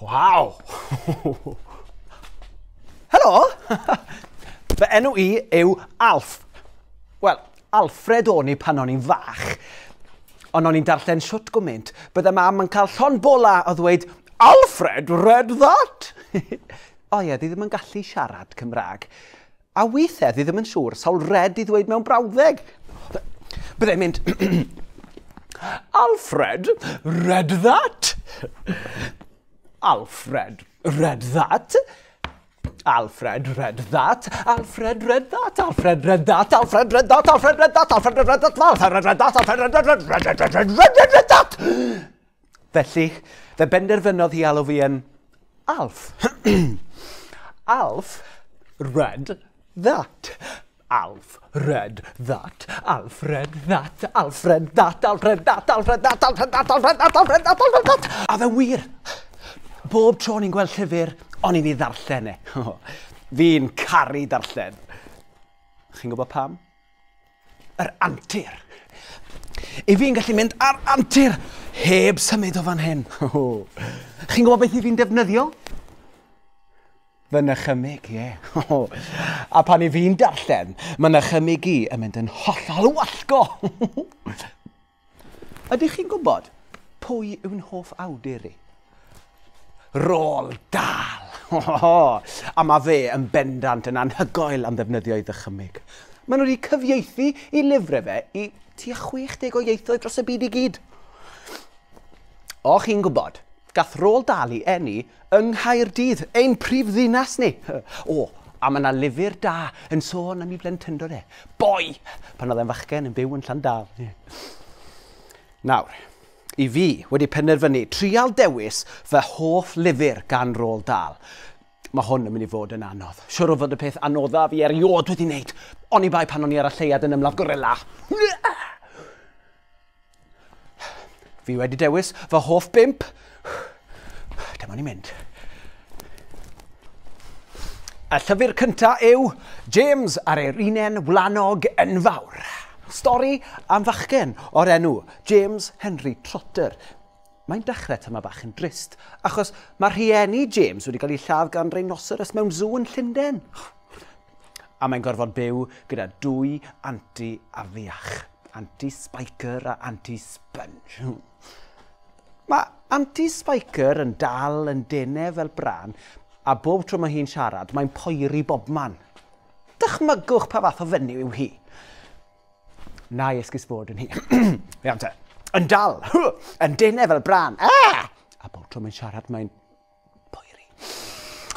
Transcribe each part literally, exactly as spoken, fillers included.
Waw! Helo! Fy enw i yw Alf. Wel, Alfred o'n i pan o'n i'n fach. Ond o'n i'n darllen shwt gwmynt, bydde mam yn cael llond bola o ddweud, Alfred read that! O ie, ddi ddim yn gallu siarad Cymraeg. A weithiau, ddi ddim yn siŵr sawl red i ddweud mewn brawddeg. Byddai'n mynd, Alfred read that! Alfred read that! Alfred read that! Alfred read that! Alfred read that! Alfred read that! Alfred read that! Alfred read that! Alfred read that! Alfred read that! Read read read read read read that! Felly, fe benderfynodd hi alw fi yn Alf. Alf read that. Alf read that. Alfred that. Alfred that. Alfred that. Alfred that. Alfred that. Alfred that. Alfred that. Alfred that. A fe wir, bob tro o'n i'n gweld llyfr, o'n i'n ei ddarllen e. Fi'n caru darllen. Chi'n gwybod pam? Yr antur. I fi'n gallu mynd ar antur heb symud o fan hyn. Chi'n gwybod beth i fi'n defnyddio? Fy nychymyg, ie. A pan i fi'n darllen, mae nychymyg i yn mynd yn hollol wallgo. Ydych chi'n gwybod pwy yw'n hoff awdur i? Roald Dahl. A mae fe yn bendant yn anhygoel am ddefnyddio ei ddychymyg. Maen nhw wedi cyfieithu i lyfrau fe i tua chwech deg o ieithoedd dros y byd i gyd. O, chi'n gwybod, gath Roald Dahl ei eni yng Nghaerdydd, ein prif ddinas ni. O, a mae yna lyfr da yn sôn am ei blentyndod e. Boi! Pan oedd e'n fachgen yn byw yn Llandaf. Nawr, i fi wedi penderfynu trial dewis fy hoff lyfr gan Roald Dahl. Mae hwn yn mynd i fod yn anodd. Siwr o fod y peth anoddaf fi erioed wedi wneud. Oni bai pan o'n i ar y lleuad yn ymladd gorilla. Fi wedi dewis fy hoff bump. Dyma ni'n mynd. Y llyfr cyntaf yw James a'r Erinen Wlanog Enfawr. Stori am fachgen o'r enw James Henry Trotter. Mae'n dechrau tyma bach yn drist, achos mae rhieni James wedi cael ei lladd gan rhinoceros mewn sŵ yn Llundain. A mae'n gorfod byw gyda dwy anti afiach. Anti Spiker a Anti Sponge. Mae Anti Spiker yn dal yn denau fel brân, a bob tro mae hi'n siarad, mae'n poeri bobman. Dychmygwch pa fath o fenyw yw hi. Na i esgus bod yn hi. Iawn te. Yn dal, yn denau fel brân. Ah! A bob tro mae'n siarad, mae'n poeri.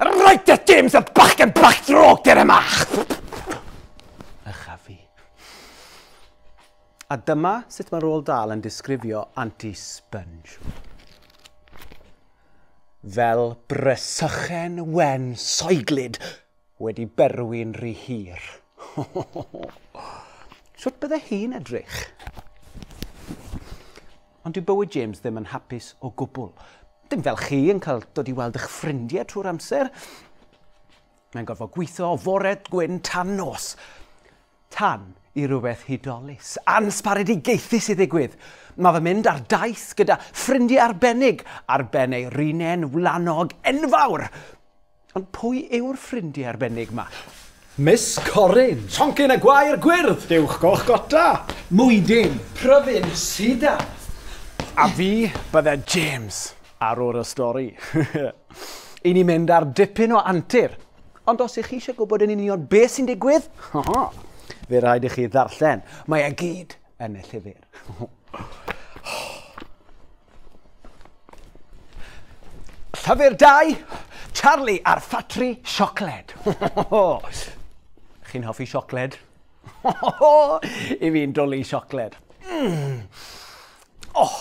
Reit te, James, y bachgen bach drwg dyr yma! Ycha fi. A dyma sut mae Roald Dahl yn disgrifio Anti-Sponge. Fel brysychen wen soeglyd wedi berwi'n rhy hir. Sut bydde hi'n edrych? Ond dyw bywyd James ddim yn hapus o gwbl. Dim fel chi yn cael dod i weld eich ffrindiau trwy'r amser. Mae'n gorfod gweithio o fore gwyn tan nos. Tan i rhywbeth hudolus, ansbaredigaethus i ddigwydd. Mae fe'n mynd ar daith gyda ffrindiau arbennig ar ben ei rinen wlanog enfawr. Ond pwy yw'r ffrindiau arbennig ma? Miss Corin. Sioncyn y gwair gwyrdd. Dewch goch gota. Mwydyn. Pryfyn sida. A fi bydde James ar ôl y stori. I ni mynd ar dipyn o antur. Ond os ych chi eisiau gwybod yn union beth sy'n digwydd, fe rhaid i chi ddarllen. Mae e gyd yn y llyfr. Llyfr dau, Charlie a'r ffatri siocled. Chi'n hoffi siocled? I fi'n dwlu siocled. Mm. Oh,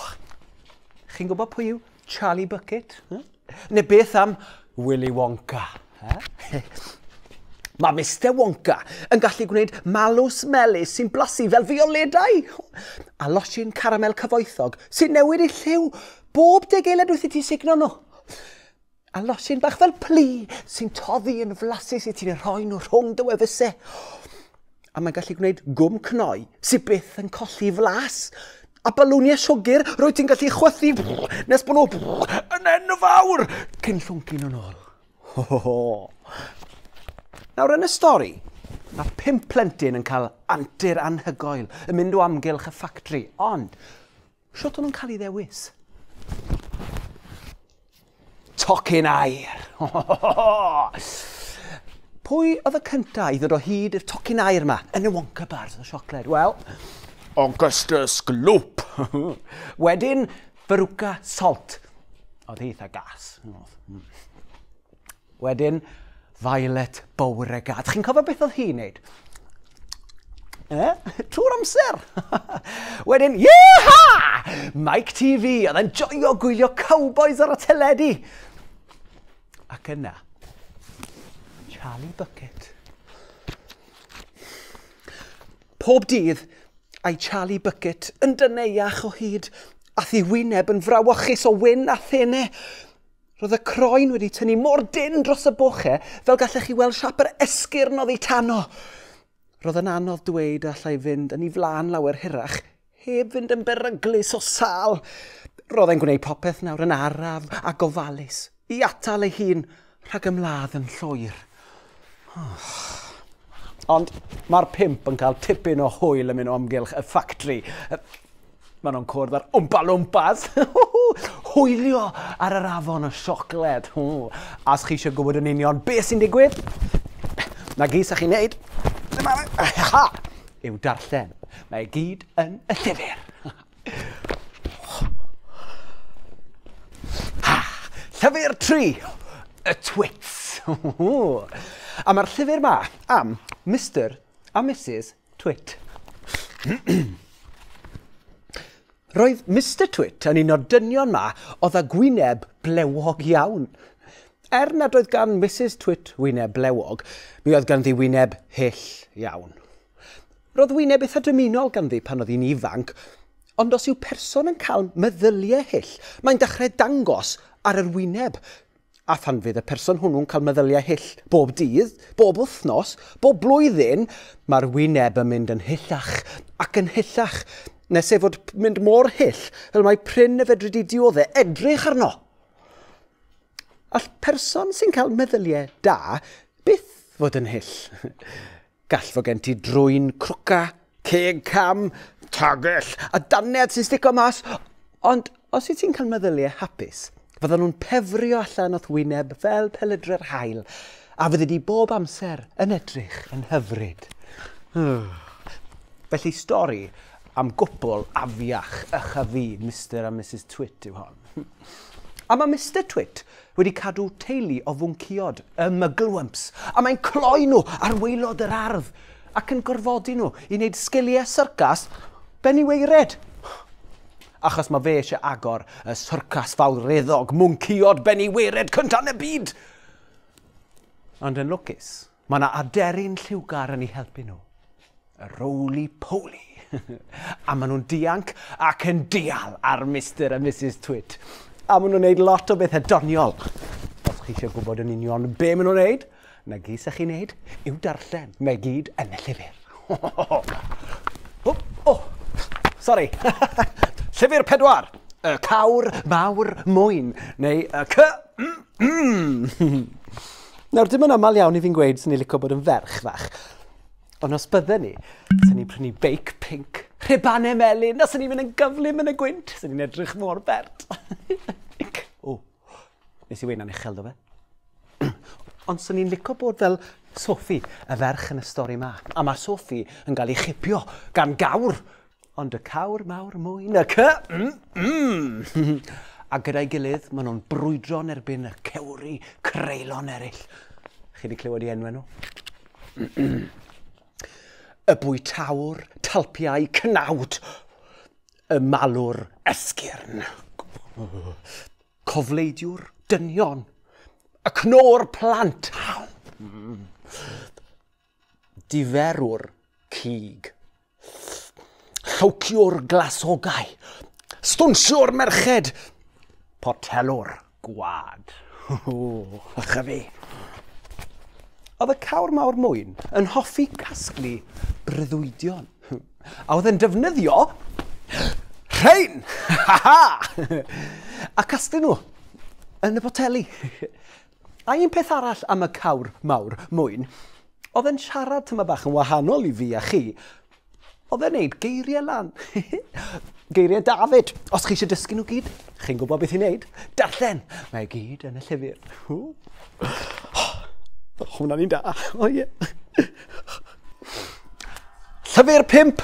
chi'n gwybod pwy yw Charlie Bucket? Neu beth am Willy Wonka? Mae Mister Wonka yn gallu gwneud malws melys sy'n blasu fel fioledau a losin caramel cyfoethog sy'n newid ei lliw bob deg eiliad wrth i ti sugno nhw. A losin bach fel plu sy'n toddi yn flasus i ti'n rhoi nhw rhwng dy wefusau. A mae'n gallu gwneud gwm cnoi sy'n byth yn colli flas. A balwniau siwgr, rwyt ti'n gallu chwythu nes bod nhw yn enfawr cyn llwncu nhw'n ôl. Ho, ho, ho. Nawr yn y stori, mae pump plentyn yn cael antur anhygoel yn mynd o amgylch y ffactri, ond shwt o'n nhw'n cael ei ddewis? Tocyn aur. Pwy oedd y cyntaf i ddod o hyd i'r tocyn aur yma yn y Wonka bars o siocled? Wel, Augustus Gloop. Wedyn, Veruca Salt. Oedd hi eitha gas. Wedyn, Violet Beauregarde. Chi'n cofio beth oedd hi'n neud? Eh? Trwy'r amser. Wedyn, yeeha! Mike T V, oedd e'n joio gwylio cowboys ar y teledu. Ac yna, Charlie Bucket. Pob dydd, a'i Charlie Bucket yn dyneuach o hyd, a thi wyneb yn frawychus o wyn a thene. Roedd y croen wedi tynnu mor dynn dros y bochau fel gallech chi weld siap yr esgyrn oddi tano. Roedd yn anodd dweud allai fynd yn ei flaen lawer hirach, heb fynd yn beryglus o sâl. Roedd e'n gwneud popeth nawr yn araf a gofalus, i atal ei hun rhag ymladd yn llwyr. Oh. Ond mae'r pump yn cael tipyn o hwyl yn mynd o amgylch y ffactri. Maen nhw'n cwrdd ar Wmpa Lwmpas. Hwylio ar yr afon o siocled. A os chi eisiau gwybod yn union beth sy'n digwydd, na gyd sa chi'n neud, yw darllen. Mae gyd yn y llyfr. Llyfr tri, y Twits. A mae'r llyfr ma am Mister a Missus Twit. Roedd Mister Twit yn un o'r dynion ma oedd â gwyneb blewog iawn. Er nad oedd gan Missus Twit wyneb blewog, mi oedd ganddi wyneb hyll iawn. Roedd wyneb eitha dymunol ganddi pan oedd hi'n ifanc, ond os yw person yn cael meddyliau hyll, mae'n dechrau dangos ar yr wyneb. A phan fydd y person hwnnw'n cael meddyliau hyll bob dydd, bob wythnos, bob blwyddyn, mae'r wyneb yn mynd yn hyllach ac yn hyllach, nes ei fod mynd mor hyll fel mae prin y fedri di dioddef edrych arno. All person sy'n cael meddyliau da byth fod yn hyll. Gall fod gen ti drwyn crwca, ceg cam, tagell a dannedd sy'n stico mas, ond os wyt ti'n cael meddyliau hapus, fyddan nhw'n pefrio allan o'th wyneb fel pelydre'r haul, a fyddi di bob amser yn edrych yn hyfryd. Felly stori am gwpl afiach ychyfu Mister a Missus Twit yw hon. A mae Mister Twit wedi cadw teulu o fwnciod, y Mugglewumps, a mae'n cloi nhw ar waelod yr ardd ac yn gorfodi nhw i wneud sgiliau syrcas beniweired. Achos mae fe eisiau agor y syrcas fawreddog mwnciod beniweired cyntaf yn y byd. Ond yn lwcus, mae yna aderyn lliwgar yn eu helpu nhw. Y roly-poly. A maen nhw'n dianc ac yn dial ar Mister a Missus Twit. A maen nhw'n neud lot o bethau doniol. Os chi eisiau gwybod yn union be maen nhw'n neud, na gyd sa chi'n neud yw darllen. Mae gyd yn y llyfr. Oh, oh, sorry. Llyfr pedwar, y cawr mawr mwyn, neu y c... Mm, mm. Nawr, dim yn aml iawn i fi'n gweud sy'n ni'n licio bod yn ferch fach. Ond os bydden ni, sy'n ni'n prynu beic pinc, rhubanau melyn, a sy'n ni'n mynd yn gyflym yn y gwynt, sy'n ni'n edrych mor bert. O, nes i weud na'n uchel do fe. Ond sy'n ni'n licio bod fel Sophie, y ferch yn y stori ma. A mae Sophie yn cael ei chipio gan gawr. Ond y cawr mawr mwyn, y c... Mm, mm. A gyda'i gilydd, maen nhw'n brwydro'n erbyn y cewri creulon eraill. Chi wedi clywed i enwau nhw? Y bwytawr, talpiau, cnawd. Y malwr, esgyrn. Cofleidiwr, dynion. Y cnor plant. Diferwr, cig. Llowciwr glasogau. Stwnsiwr merched. Potelwr gwad. Ych a fi. Oedd y cawr mawr mwyn yn hoffi casglu breuddwydion. A oedd yn defnyddio Ha ha! A casglu nhw yn y boteli. A un peth arall am y cawr mawr mwyn, oedd e'n siarad tyma bach yn wahanol i fi a chi. Oedd e'n neud geiriau lan. Geiriau David. Os chi eisiau dysgu nhw gyd, chi'n gwybod beth i wneud. Darllen! Mae gyd yn y llyfr. Oh, hwnna'n un da. O ie. Llyfr pump.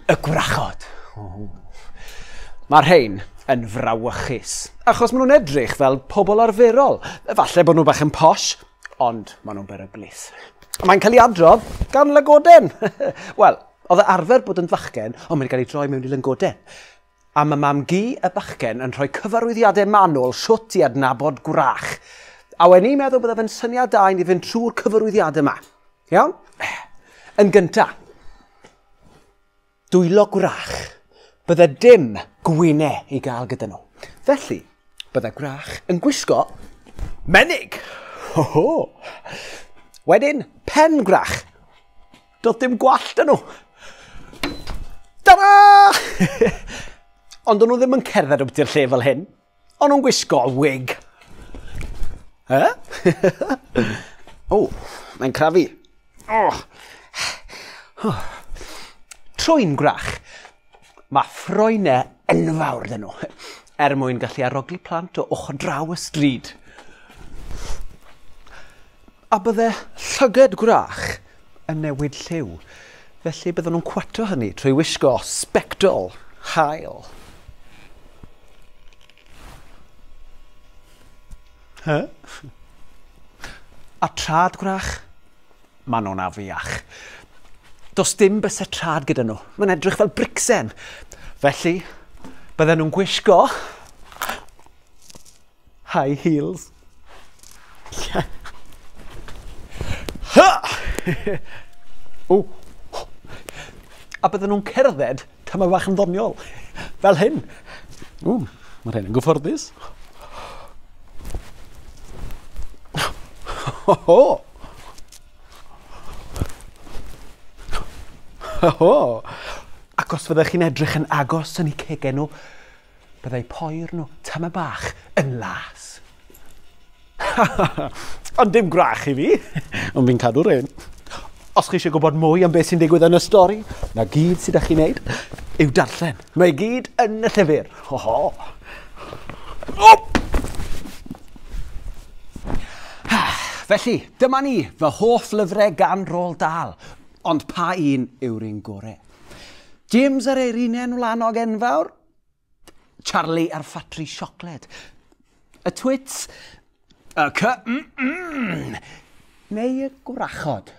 Y gwrachod. Oh. Mae'r rhain yn frawychus, achos maen nhw'n edrych fel pobl arferol. Falle bod nhw bach yn posh, ond maen nhw'n beryglus. Mae'n cael ei adrodd gan lygoden. Wel, oedd e arfer bod yn fachgen, ond mae'n cael ei droi mewn i lygoden. A mae mam-gu y bachgen yn rhoi cyfarwyddiadau manwl shwt i adnabod gwrach. A wen i'n meddwl bydde fe'n syniad da i ni fynd trwy'r cyfarwyddiadau yma. Iawn? Yn gynta, dwylo gwrach. Bydde dim gwynau i gael gyda nhw. Felly, bydde gwrach yn gwisgo menig. Ho ho! Wedyn, pen gwrach. Doedd dim gwallt yn nhw. Ta-da! Ond o'n nhw ddim yn cerdded obiti'r lle fel hyn. O'n nhw'n gwisgo wig. He? O, mae'n crafu. Oh. Oh. Trwyn gwrach. Mae ffroenau enfawr dyn nhw, er mwyn gallu arogli plant o ochr draw y stryd. A bydde llyged gwrach yn newid lliw, felly bydden nhw'n cwato hynny trwy wisgo sbectol haul. He? A trad gwrach, maen nhw'n afiach. Does dim bysau trad gyda nhw. Mae'n edrych fel bricsen. Felly, bydden nhw'n gwisgo high heels. Ha! O. A bydden nhw'n cerdded tyma bach yn ddoniol. Fel hyn. O, mae'r hyn yn gyfforddus. Ho ho! Ho! Ac os fyddech chi'n edrych yn agos yn eu cegau nhw, byddai poer nhw tyma bach yn las. Ond dim gwrach i fi, ond fi'n cadw'r un. Os chi eisiau gwybod mwy am beth sy'n digwydd yn y stori, na gyd sydd â chi'n neud yw darllen. Mae gyd yn y llyfr. Ho ho! Oh! Felly, dyma ni, fy hoff lyfrau gan Roald Dahl. Ond pa un yw'r un gorau? James a'r Eirinen Wlanog Enfawr? Charlie a'r Ffatri Siocled? Y Twits? Y C... Mm -mm. Neu y Gwrachod?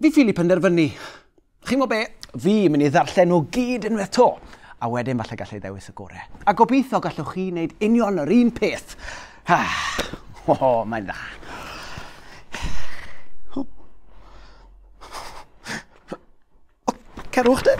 Fi ffili penderfynu. Chi'n gwybod be? Fi mynd i ddarllen nhw gyd unwaith to. A wedyn falle gallai ddewis y gorau. A gobeithio gallwch chi wneud union yr un peth. Ah, oh, mae'n dda. Cerwch de.